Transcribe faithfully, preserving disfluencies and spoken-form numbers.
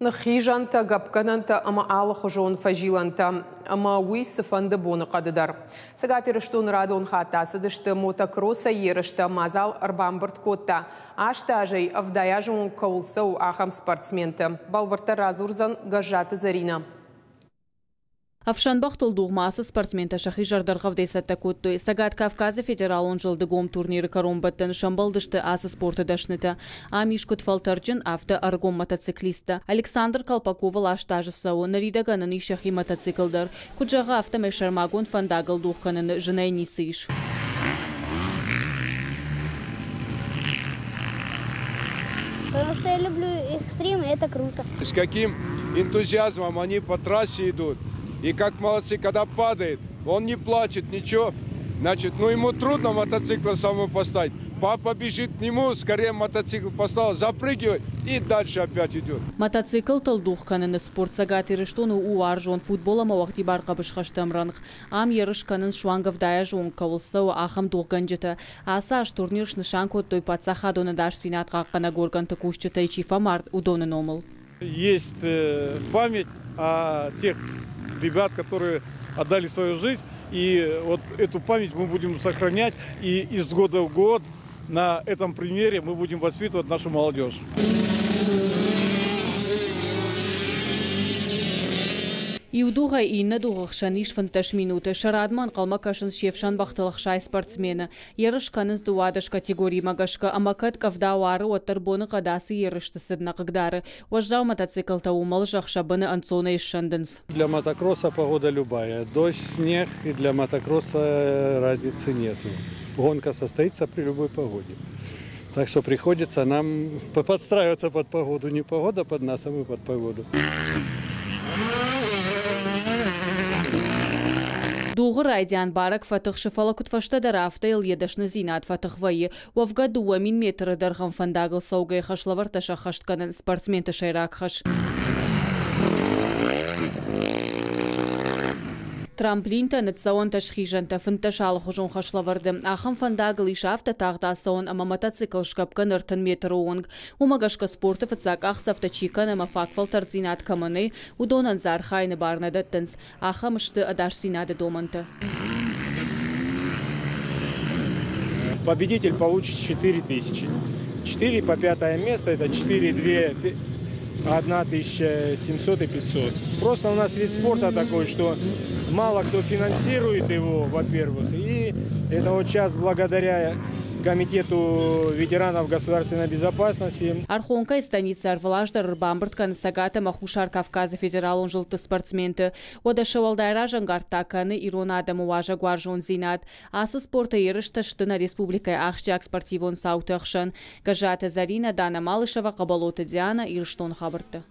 Ныххизӕнтӕ, гӕпгӕнӕнтӕ ӕмӕ алыхуызон фӕзилӕнтӕ. Ӕмӕ уый цыфӕнды боныхъӕды дӕр. Цӕгат Ирыстоны радон хатт ацыдысты мотокроссӕй ерыстӕ. Мадзал ӕрбамбырд кодта, аст азӕй ӕвдай азы онг кӕуыл цӕуы, ахӕм спортсменты. Бӕлвырддӕр радзурдзӕн Гӕззаты Зӕринӕ. Ӕфсӕнбӕхтыл дугъмӕ ацы спортсментӕ сӕхи зӕрдӕргъӕвдӕй цӕттӕ кодтой. Цӕгат Кавказы федералон зылды гом турниры кӕронбӕттӕны сӕмбӕлдысты ацы спорты дӕснытӕ. Ам ис куыд фӕлтӕрджын, афтӕ ӕрыгон мотоциклисттӕ. Александр Колпаковыл аст азы цӕуы, ныридӕгӕн ын ис йӕхи мотоцикл дӕр. Куыд зӕгъы, афтӕмӕй сӕрмагонд фӕндагыл дугъ кӕныны зынӕй ницы ис. Потому что я люблю экстрим, и это круто. С каким энтузиазмом они по трассе идут. И как молодцы, когда падает, он не плачет, ничего. Значит, ну ему трудно мотоцикл самому поставить. Папа бежит к нему, скорее мотоцикл поставил, запрыгивает и дальше опять идет. Мотоциклтыл дугъ кӕныны спорт Цӕгат Ирыстоны у уарзон футбол ӕмӕ уӕгъдибар хъӕбысхӕсты ӕмрӕнхъ. Ам ерыс кӕнынц, суанг ӕвдай азы онг кӕуыл цӕуы, ахӕм дугъгӕнджытӕ. Ацы аз турнир снысан кодтой, паддзахадон ӕдасдзинад хъахъхъӕнӕг органты кусджытӕй чи фӕмард, уыдоны номыл. Есть память о тех ребят, которые отдали свою жизнь. И вот эту память мы будем сохранять. И из года в год на этом примере мы будем воспитывать нашу молодежь. Иу дугъӕй иннӕ дугъы хсӕн ис фынддӕс минуты. Сӕ радмӕ ӕнхъӕлмӕ кӕсынц се фсӕн бӕхтыл ӕхсай спортсмены. Ерыс кӕнынц дыууадӕс категоримӕ гӕсгӕ, ӕмӕ кӕд къӕвда уары, уӕддӕр боныхъӕд ацы ерысты цыд нӕ хъыгдары. Уӕззау мотоциклтӕ уымӕл зӕхх сӕ быны ӕнцонӕй ссӕндынц. Для мотокросса погода любая. Дождь, снег, и для мотокросса разницы нету. Гонка состоится при любой погоде. Так что приходится нам подстраиваться под погоду. Не погода под нас, а мы под погоду. Дугъы райдиан барӕг фӕтыхсы, фӕлӕ куыд фӕстӕдӕр, афтӕ йыл йӕ дӕсныдзинад фӕтых вӕййы. Уӕвгӕ дыууӕ мин метры дӕргъӕн фӕндагыл цӕугӕйӕ хӕслӕвӕрдтӕ сӕххӕст кӕнын спортсменты сӕйраг хӕс. Трамплинтӕ, ныццӕуӕнтӕ, схизӕнтӕ, фынддӕс алыхуызон хӕслӕвӕрды. Ахӕм фӕндагыл ис афтӕ тагъд ацӕуӕн, ӕмӕ мотоцикл сгӕпп кӕны ӕртын метры онг. Уымӕ гӕсгӕ спорты фыццаг къахдзӕфтӕ чи кӕны ӕмӕ фаг фӕлтӕрддзинад кӕмӕ нӕй, уыдонӕн дзы архайыны бар нӕ дӕттынц. Ахӕм сты ӕдасдзинады домӕнтӕ. Победитель получит четыре тысячи. Четыре по пятое место это четыре, две, одна тысяча семьсот и пятьсот. Просто у нас вид спорта такой, что мало кто финансирует его, во-первых. И это вот сейчас благодаря Комитету ветеранов государственной безопасности. Архонкӕйы станицӕ ӕрвылаз дӕр ӕрбамбырд кӕны Цӕгат ӕмӕ Хуссар Кавказы федералон зылдты спортсменты. Уӕдӕ сӕ уӕлдай разӕнгард та кӕны ирон адӕмы уазӕгуарзондзинад. Ацы спорты ерыстӕ сты нӕ республикӕйы ахсджиаг спортивон цауты ӕхсӕн. Гӕззаты Зӕринӕ, Дана Малышева, Хъӕбӕлоты Диана, Ирыстоны хабӕрттӕ.